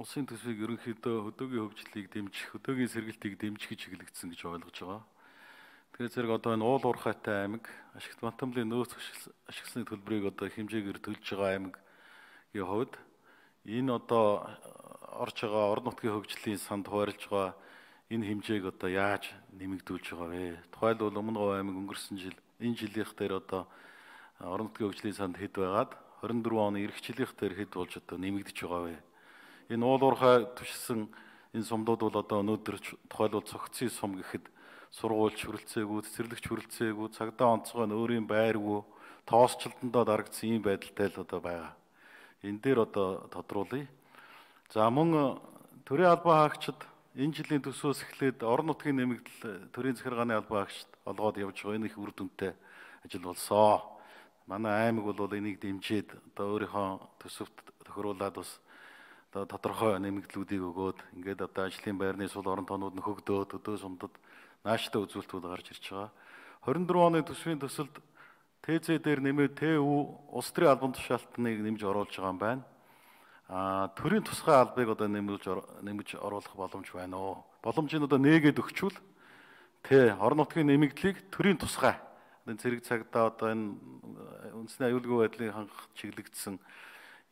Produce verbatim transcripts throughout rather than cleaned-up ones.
улсын төсвийг ерөнхийдөө хөдөөгийн хөгжлийг дэмжих, хөдөөгийн сэргэлтийг дэмжих гэж чиглэгдсэн гэж ойлгож байгаа. Тэгэхээр зэрэг одоо энэ уул уурхайтай аймаг, ашигт Бантамлын нөөц ашигласны төлбөрийг одоо хэмжээгээр төлж байгаа аймагийн хувьд энэ одоо орж байгаа орон нутгийн хөгжлийн санд хуваарлж байгаа энэ хэмжээг одоо яаж нэмэгдүүлж байгаа вэ? Тухайлбал Өмнөговь аймаг өнгөрсөн жил энэ жилийнх дээр одоо орон нутгийн хөгжлийн санд хэд байгаад хорин дөрвөн оны эх жилийнх дээр хэд болж одоо нэмэгдэж байгаа вэ? Энэ уул уурхай түшсэн энэ сумдууд бол одоо өнөөдөр тухайлбал цогцын сум гэхэд сургуульч хүрэлцээгүй, цэцэрлэгч хүрэлцээгүй, цагдаа онцгой нь өөрийн байргүй, тоосчлолтондоо дарагдсан ийм байдалтай л одоо байгаа. Энэ дээр одоо тодруулъя. За мөн төрийн албан хаагчид энэ жилийн төсвөөс эхлээд орон нутгийн нэмэгдэл төрийн захиргааны албан хаагчид олгоод явж байгаа энэ их үр дүнтэй ажил болсон. Манай аймаг бол энийг дэмжиж одоо өөрийнхөө төсөвт тохируулаад бас одоо тодорхой нэмэгдлүүдийг өгөөд ингээд одоо ажлын байрны сул орон тоонууд нөхөгдөөд өдөө сумдад нааштай үзүүлэлтүүд гарч ирж байгаа. хорин дөрвөн оны төсвийн төсөлд ТЗ дээр нэмээд ТУ улс төрийн албан тушаалтныг нэмж оруулж байгаа юм байна. Аа төрийн тусгай албыг одоо нэмж нэмж оруулах боломж байна уу? Боломжийг одоо нээгээд өгчүүл тэ орон нутгийн нэмэгдлийг төрийн тусгай энэ цэрэг цагдаа одоо энэ үндэсний аюулгүй байдлыг хангах чиглэгдсэн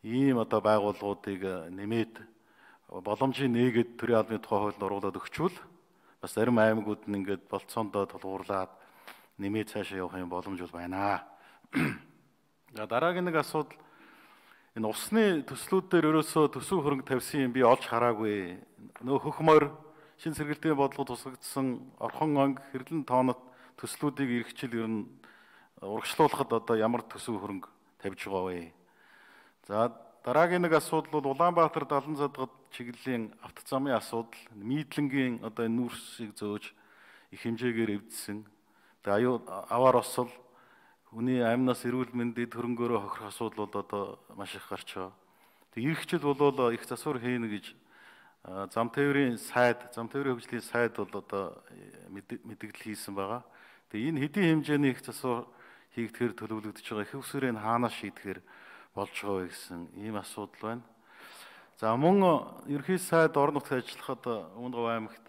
ийм одоо байгууллагуудыг нэмээд боломжийг нээгээд төрийн албаны тухай хуулинд оруулаад өгчүүл бас зарим аймагуд нь ингээд болцоондоо тулгуурлаад нэмээд цаашаа явах юм боломж бол байна. За дараагийн нэг асуудал энэ усны төслүүд дээр ерөөсөө төсөв хөрөнгө тавьсан юм би олж хараагүй. Нөө хөх морь шин сэргэлтийн бодлого тусгагдсан орхон онг хэрлэн тоонот төслүүдийг эргэжил ер нь урагшлуулахад одоо ямар төсөв хөрөнгө тавьж байгаа вэ? За дараагийн нэг асуудал бол Улаанбаатар далан задгад чиглэлийн автозамын асуудал, Мийдлэнгийн одоо энэ нүүрсийг зөөж их хэмжээгээр эвдсэн. Тэгээ аюу аваар осол хүний амнаас эрүүл мэндэд хөрөнгөөрөө хохирох асуудал бол одоо маш их гарч байгаа. Тэгээ ирэх жил бол их засвар хийнэ гэж зам тээврийн сайд, зам тээврийн хөгжлийн сайд бол одоо мэдээлэл хийсэн байгаа. Тэгээ энэ хэдийн хэмжээний их засвар хийгдэхээр төлөвлөгдөж байгаа их усрын хаанаас шийдэхээр болж байгаа вэ гэсэн ийм асуудал байна. За мөн ерхий сайд орон нутгийн ажиллахад Өмнөговь аймагт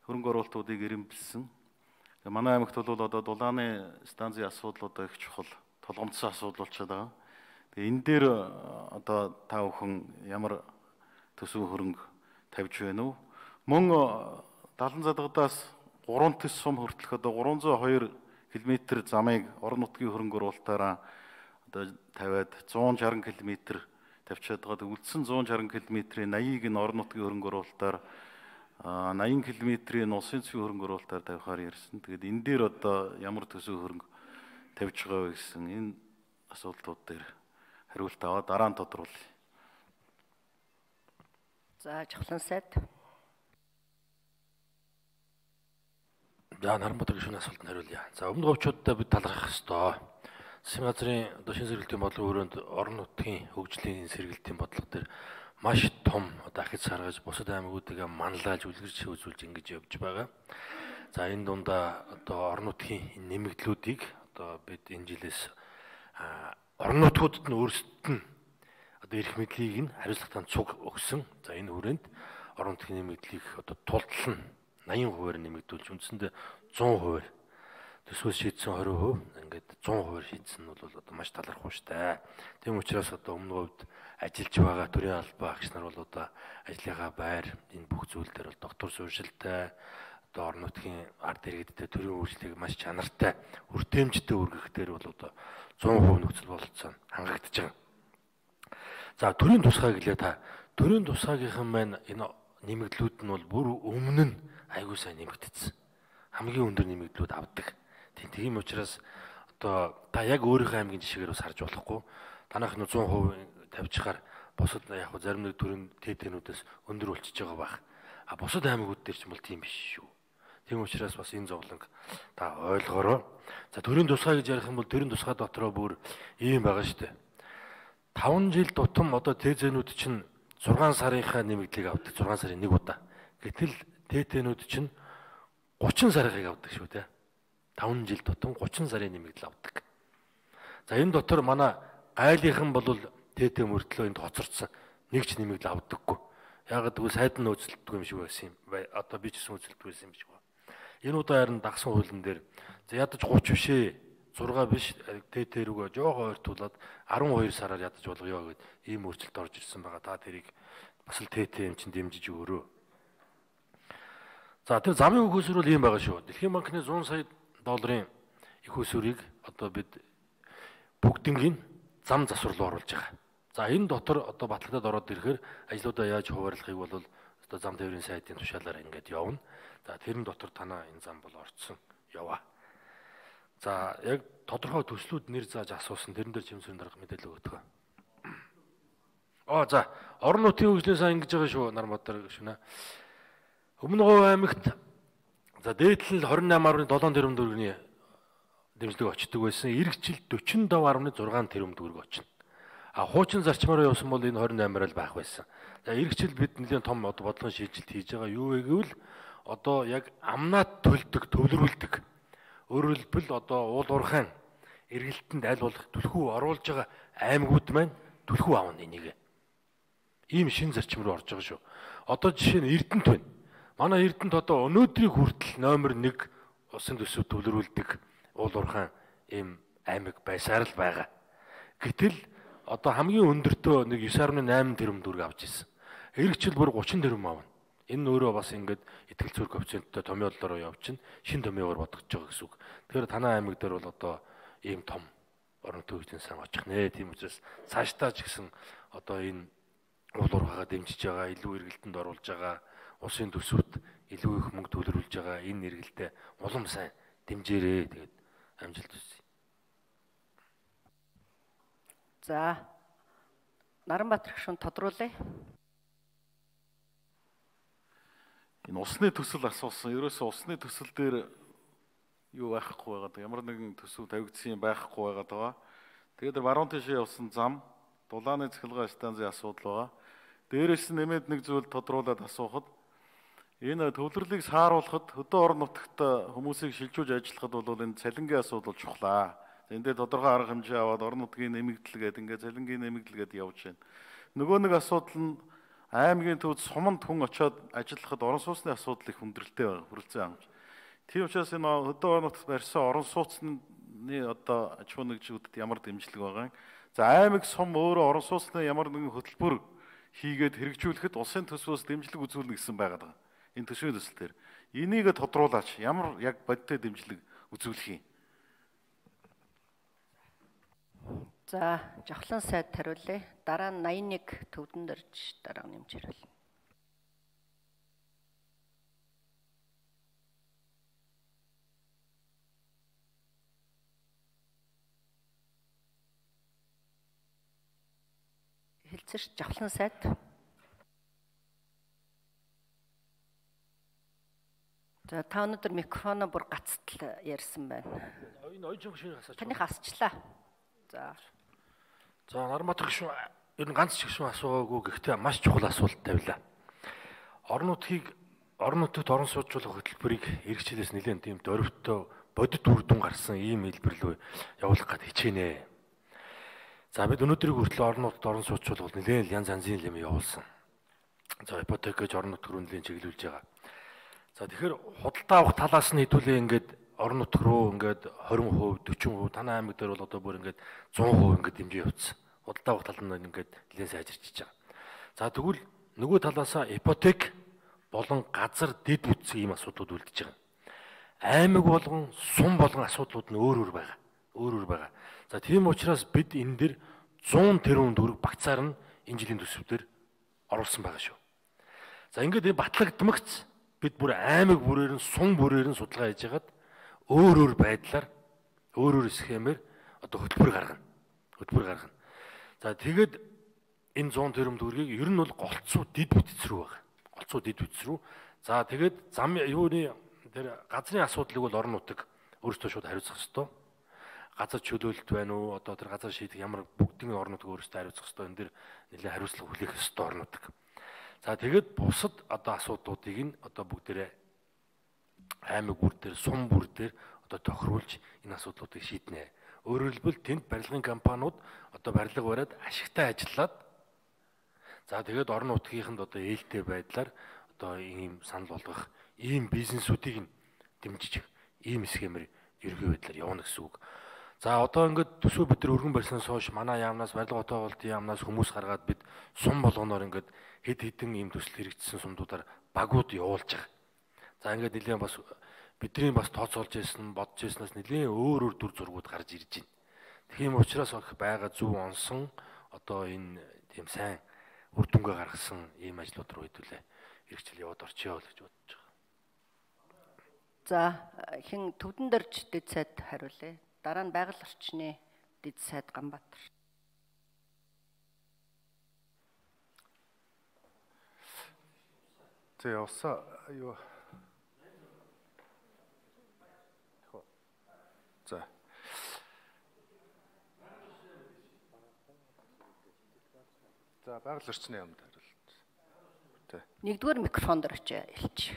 хөрөнгө оруулалтуудыг ирэмбэлсэн. Манай аймагт бол одоо дулааны станцын асуудал одоо их чухал, толгомцсон асуудал болчиход байгаа. Тэгээ энэ дээр одоо та бүхэн ямар төсөв хөрөнгө тавьж байна уу? Мөн далан задгадаас гурван төс сум хүртэлх одоо гурван зуун и хоёр км замыг орон нутгийн хөрөнгө оруулалтаараа одоо тавиад зуун шаран км тавьчаад байгаа. Үлдсэн зуун шаран км-ийн восьмыг нь орон нутгийн хөрөнгө оруулалтаар восемь км-ийн улсын цэвийн хөрөнгө оруулалтаар тавихаар ярьсан. Тэгээд энэ дээр одоо ямар төсөв хөрөнгө тавьж байгаа вэ гэсэн энэ асуудлууд дээр хариулт аваад дараа нь тодруулъя. За Жавхлан сайд. За Наранбаатар гишүүний асуултанд хариулъя. За Өмнөговьчуудаа бид талархах ёстой. Засгийн газрын одоо шинэ сэргэлтийн бодлого өрөөнд орон нутгийн хөгжлийн сэргэлтийн бодлого дээр маш том одоо ахиц саргаж бусад аймагуудыг манлайлж үлгэрч үзүүлж ингэж явж байгаа. За энэ дундаа одоо орон нутгийн нэмэгдлүүдийг одоо бид энэ жилээс орон нутгуудад нь өөрсдөд нь одоо эрх мэдлийг нь хариуцлагатай цуг өгсөн. За энэ хүрээнд орон нутгийн нэмэгдлийг одоо тултал нь восемь хувиар нэмэгдүүлж үндсэндээ сто хувиар төсвөөс шийдсэн двадцать хувь ингээд сто хувиар шийдсэн нь бол одоо маш талархав штэ. Тийм учраас одоо Өмнөговьд ажиллаж байгаа төрийн албан хаагч нар бол одоо ажлынхаа байр энэ бүх зүйл дээр бол доктор сууршилтай одоо орон нутгийн ард иргэдтэй төрийн үйлчлэгийг маш чанартай хүртээмжтэй үргэх дээр бол одоо сто хувь нөхцөл бололцоо хангагдаж байгаа. За төрийн тусгай гэлээ та төрийн тусгайгийнхан маань энэ нэмэгдлүүд нь бол бүр өмнө нь айгуу сайн нэмэгдсэн. Хамгийн өндөр нэмэгдлүүд авдаг. Тийм учраас одоо та яг өөрийнхөө аймгийн жишээгээр бас харж болохгүй. Танах нь сто хувь тавьчихаар бусад яг зарим нэг төрийн ТТ-нүүдээс өндөр болчихж байгаа байх. А бусад аймагуд дээр ч юм бол тийм биш шүү. Тийм учраас бас энэ зовлонг та ойлгоорой. За төрийн тусгай гэж ярих юм бол төрийн тусгай дотроо бүр ийм байгаа шүү дээ. таван жил тутам одоо ТЗ-нүүд чинь зургаан сарынхаа нэмэгдлийг авдаг. зургаан сарын нэг удаа. Гэтэл ТТ-нүүд чинь гучин сарыг авдаг шүү дээ. таван жил тутам гучин сарын нэмэгдэл авдаг. За энэ дотор манай гайлынхан бол ТТ мөртлөө энд хоцорцсон нэг ч нэмэгдэл авдаггүй. Ягаад гэвэл сайд нь нөөцлөлтгүй юм шиг байсан юм. Одоо би ч гэсэн нөөцлөлтгүй байсан юм шиг байна. Энэ удаа харин дагсан хуулийн дээр за ядаж гурван биш ээ. зураг биш тэ тэрүүгээ жоохоо ойртуулад арван хоёр сараар ядаж болгоё гэд ийм өөрчлөлт орж ирсэн байгаа. Та тэрийг бас л тэ тэ юм чинь дэмжиж өгөрөө. За тэр замын их усүр бол ийм байгаа шүү. Дэлхийн банкны зуун сая долларын их усүрийг одоо бид бүгднийг зам засвар руу оруулж байгаа. За энэ дотор одоо батлагтад ороод ирэхээр ажлуудаа яаж хуваарлахыг бол одоо зам тээврийн сайдын тушаалаар ингээд явна. За тэрэн дотор танаа энэ зам бол орцсон яваа. За яг тодорхой төслүүд нэр зааж асуусан тэрэн дээр жимсрийн дарга мэдээлэл өгдөг. Оо за орон нутгийн хөгжлөөс ингэж байгаа шүү Нарбаатар гүшнэ. Өмнө Говь аймагт за дээдлэл двадцать восемь гаруй семь тэрбум төгрөгийн дэмжлэг очдог байсан. Ирэх жил forty five гаруй six тэрбум төгрөг очно. А хуучин зарчмаараа явсан бол энэ twenty-eight л байх байсан. За ирэх жил бид нэлээд том бодлогын шийдэлт хийж байгаа. Юу вэ гэвэл одоо яг амнаад төлдөг, төвлөрүүлдэг. Өөрөөр хэлбэл одоо уул уурхайн эргэлтэнд аль болох түлхүү оруулж байгаа аймагуд маань түлхүү аавна энийг. Ийм шин зарчим руу орж байгаа шүү. Одоо жишээ нь Эрдэнэт байна. Манай Эрдэнэт одоо өнөөдрийг хүртэл номер one усын төсөв төвлөрүүлдэг уул уурхайн ийм аймаг байсаар л байгаа. Гэтэл одоо хамгийн өндөртөө нэг nine point eight тэрбум төгрөг авч ирсэн. Эх жил бүр thirty тэрбум авна. Энэ өөрөө бас ингээд итгэл зүрх коэффициенттэй томьёололоор явчихна. Шин томьёогоор бодогдож байгаа гэсэн үг. Тэгэхээр танай аймаг дээр бол одоо ийм том орон төвийн сан очих нэ. Тийм учраас цаашдаа ч гэсэн одоо энэ уул уурхайгаа дэмжиж байгаа, илүү эргэлтэнд оруулж байгаа, улсын төсөвт илүү их мөнгө төлөвлөж байгаа энэ эргэлтээ улам сайн дэмжээрэй. Тэгээд амжилт хүсье. За Наранбаатар гүшүүн тодруулъя. Энэ усны төсөл асуусан. Ерөөсөө усны төсөл дээр юу байхгүй байгаад ямар нэгэн төсөв тавигдсан юм байхгүй байгаад байгаа. Тэгээд баруун тишээ явсан зам, дулааны цахилгаан станцын асуудал байгаа. Дээрээс нь нэмээд нэг зүйл тодруулаад асуухад энэ төвлөрлийг сааруулахад хөдөө орон нутагт хүмүүсийг шилжүүлж ажиллахад бол энэ цалингийн асуудал чухлаа. Энд дээр тодорхой арга хэмжээ аваад орон нутгийн нэмэгдэл гэдэг ингээд цалингийн нэмэгдэл гэдэг явж байна. Нөгөө нэг асуудал нь аймгийн төвд суманд хүн очиод ажиллахад орон сууцны асуудал их хүндрэлтэй байна. Хүрэлцэн амж. Тийм учраас энэ хөдөө орон нутагт барьсан орон сууцны одоо аж ахуй нэгжүүдэд ямар дэмжлэг байгаа юм. За аймаг сум өөрөө орон сууцны ямар нэгэн хөтөлбөр хийгээд хэрэгжүүлэхэд улсын төсвөөс дэмжлэг үзүүлнэ гэсэн байгаад байгаа. Энэ төсвийн төсөл дээр. Энийг тодруулаач. Ямар яг бодиттой дэмжлэг үзүүлэх юм. За жавхлан сайд хариулъя. Дараа нь eighty-one төвдөн дөрж дараа нь нэмж хариулна. Хэлцэрч жавхлан сайд. За та өнөөдөр микрофоно бүр гацтал ярьсан байна. Энэ ойжин гүшүүнийг асууж. Таних асчлаа. За. За Наранбаатар гүшүүн ер нь ганц ч гүшүүн асуугаагүй гэхдээ маш чухал асуулт тавилаа. Орон нутгийг орон нутагт орон сууцуулах хөтөлбөрийг ирэх жилээс нэлээд тийм дөрвөлтөө бодит үр дүн гарсан ийм хэлбэр рүү явуулах гэж хичээнэ. За бид өнөөдрийг хүртэл орон нутагт орон сууцуулах нэлээд янз янзын юм явуулсан. За ипотек гэж орон нутг руу нэлээд чиглүүлж байгаа. За тэгэхээр худалдаа авах талаас нь хэдүүлээ ингээд орон нутг руу ингээд twenty percent, forty percent танай аймаг дээр бол одоо бүр ингээд one hundred percent ингээд дэмжиж явуулсан. Худалдаа авах тал нь ингээд нэлээд сайжирч байгаа. За тэгвэл нөгөө талаасаа ипотек болон газар дэд бүтцийн ийм асуудлууд үлдэж байгаа. Аймаг болгон сум болгон асуудлууд нь өөр өөр байгаа. Өөр өөр байгаа. За тийм учраас бид энэ дэр one hundred тэрбум төгрөг багцаар нь энэ жилийн төсөвдөр оруулсан байгаа шүү. За ингээд энэ батлагдмагц бид бүр аймаг бүрээр нь сум бүрээр нь судалгаа хийж хагаад өөр өөр байдлаар өөр өөр схемээр одоо хөтөлбөр гаргана. Хөтөлбөр гаргана. За тэгээд энэ one hundred тэрбум төгрөгийг ер нь бол голцоо дэд бүтц рүү байгаа. Голцоо дэд бүтц рүү. За тэгээд зам юуны тэр газрын асуудлыг бол орон нутаг өөрсдөө шууд хариуцах ёстой. Газар чөлөөлөлт байна уу? Одоо тэр газар шийдэх ямар бүгдийн орон нутаг өөрсдөө хариуцах ёстой. Энэ дэр нэлээд хариуцлага хүлээх ёстой орон нутаг. За тэгээд бусад одоо асуудлуудыг нь одоо бүгдээрээ аймаг бүр дээр, сум бүр дээр одоо тохируулж энэ асуудлуудыг шийднэ. Өөрөөр хэлбэл тэнд барилгын компаниуд одоо барилга бариад ашигтай ажиллаад За тэгээд орон нутгийнханд одоо ээлтэй байдлаар одоо ийм санал болгох, ийм бизнесүүдийг нь дэмжиж, ийм схемээр ерөнхий байдлаар явна гэсэн үг. За одоо ингээд төсөө бид нар өргөн барьснаас хойш манай яамнаас, барилга хотоолтын яамнаас хүмүүс гаргаад бид сум болгоноор ингээд хэд хэдэн ийм төсөл хэрэгжсэн сумдуудаар багууд явуулж байгаа. За ингээд нэлээд бас бидний бас тооцоолж ирсэн, бодож ирснаас нэлээд өөр өөр дүр зургууд гарч ирж байна. Тийм учраас их байгаа зөв онсон одоо энэ тийм сайн үр дүнгээ гаргасан ийм ажлууд руу хэдүүлээ хэрэгжил яваад орчё гэж бодож байгаа. За хэн Төвдөн дорж дэд сайд хариулъя. Дараа нь байгаль орчны дэд сайд Ганбаатар. За явса юу. За. За байгаль орчны яамд хариулт. Тэ. Нэгдүгээр микрофон дээр очиж хэлчих.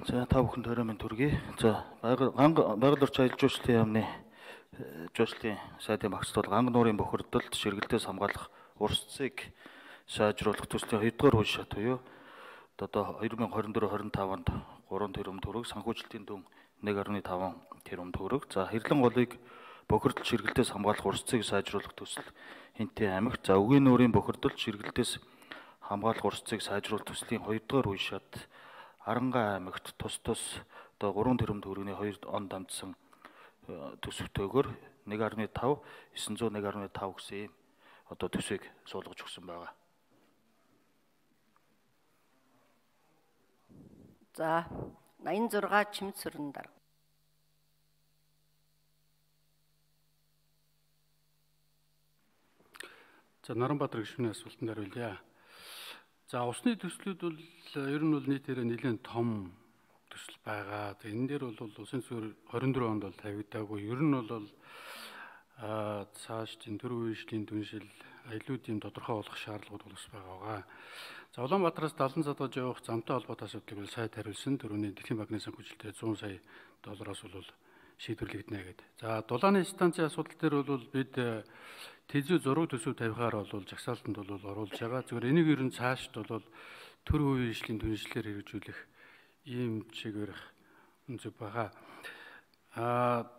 За та бүхэнд орой минь төргий. За байгаль байгаль орчин аялал жуулчлалын яамны жуулчлалын сайдын багц бол ганг нуурын бохирдолд ширгэлтээс хамгаалах урс цэцгийг сайжруулах төслийн хоёрдугаар үе шат буюу одоо две тысячи двадцать четыре двадцать пять онд три тэрбум төгрөг, санхүүжилтийн дүн one point five тэрбум төгрөг. За хэрлэн голыг бохирдол ширгэлтээс хамгаалах урс цэцгийг сайжруулах төсөл Хинтээ аймагт. За үгийн нуурын бохирдолд ширгэлтээс хамгаалах урс цэцгийг сайжруулах төслийн хоёрдугаар үе шат Аранга аймагт тус тус одоо three тэрбум төгрөгийн two онд амжсан төсөвтөөгөр one point five nine zero one point five гэсэн одоо төсвийг суулгаж өгсөн байгаа. За eighty-six Чимд сүрэн дарга. За Наранбаатар гишүүний асуултанд хариулъя. За усны төслүүд бол ер нь бол нийтээрээ нэлээд том төсөл байгаа. Тэгээ энэ дээр бол улсын суурь twenty four онд бол тавигдаагүй. Ер нь бол аа цааш тийм төрийн үеийн түншил аялуудын тодорхой болох шаардлагууд бол бас байгаа. За Улаанбаатараас Далан задгаж явах замтай холбоотой асуудлыг бол сайд хариулсан. Төрөний Дэлхийн банкны санхүүжилтээр one hundred сая доллараас бол шийдвэрлэгдэнэ гэдэг. За Дулааны станцын асуудал дээр бол бид тэзүү зураг төсөв тавихаар бол жагсаалтанд бол оруулж байгаа. Зөвхөн энийг ер нь цаашд бол төрийн үеийн түншлэлээр хэрэгжүүлэх ийм чигээр үнцэг байгаа. А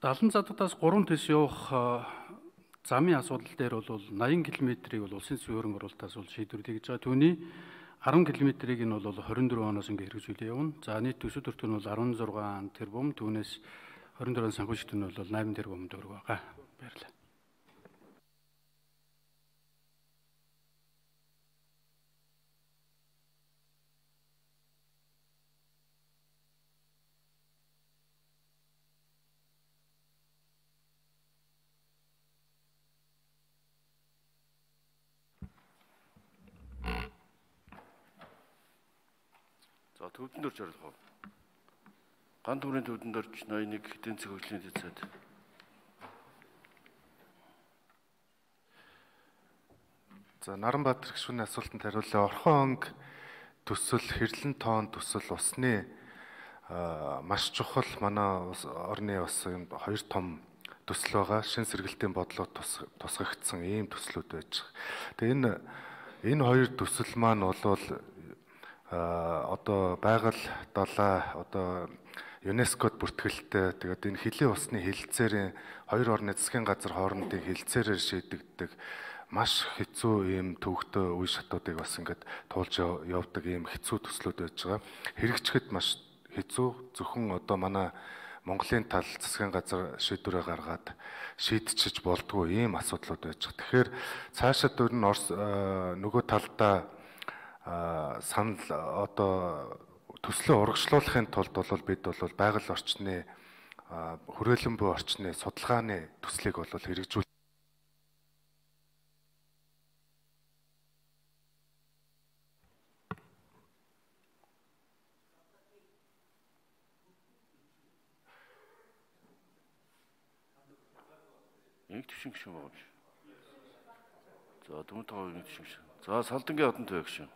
Далан задгаас three тэс явах замын асуудал дээр бол eighty км-ийг бол улсын суурин оролтоос бол шийдвэрлэж байгаа. Түүний ten км-ийг нь бол twenty-four оноос ингээ хэрэгжүүлээ явна. За нийт төсөв төртөө нь бол sixteen тэрбум, түүнээс twenty-four санхүүжилт нь бол eight тэрбум төгрөг байгаа. Баярлалаа. За Төвдөн дорж орлого. Ган төмрийн Төвдөн дорж ninety-one эдийн засгийн хөгжлийн дэд сайд. За Наранбаатар гишүүний асуултанд хариулъя. Орхон онг төсөл, хэрлэн тоон төсөл усны маш чухал манай орны бас хоёр том төсөл байгаа. Шин сэргэлтийн бодлого тусгагдсан ийм төслүүд байж байгаа. Тэгээ энэ энэ хоёр төсөл маань бол одоо байгаль далай одоо ЮНЕСКОд бүртгэлтэй тэгээд энэ хөлийн усны хилцээрийн хоёр орны засгийн газар хоорондын хилцээрээр шийдэгддэг маш хэцүү ийм төвөгтэй үе шатуудыг бас ингээд туулж явдаг ийм хэцүү төслүүд байж байгаа. Хэрэгжихэд маш хэцүү. Зөвхөн одоо манай Монголын тал засгийн газар шийдвэрээ гаргаад шийдчихэж болдгоо ийм асуудлууд байж байгаа. Тэгэхээр цаашид өөр нь нөгөө талдаа санал одоо төслөө урагшлуулахын тулд бол бид бол байгаль орчны хүрээлэн буй орчны судалгааны төслийг бол хэрэгжүүл. Нэг төвшин гişүн байгаа юм. За Дүмтэн хувийн гишүүн. За Салдангийн Одон Туяа гишүүн.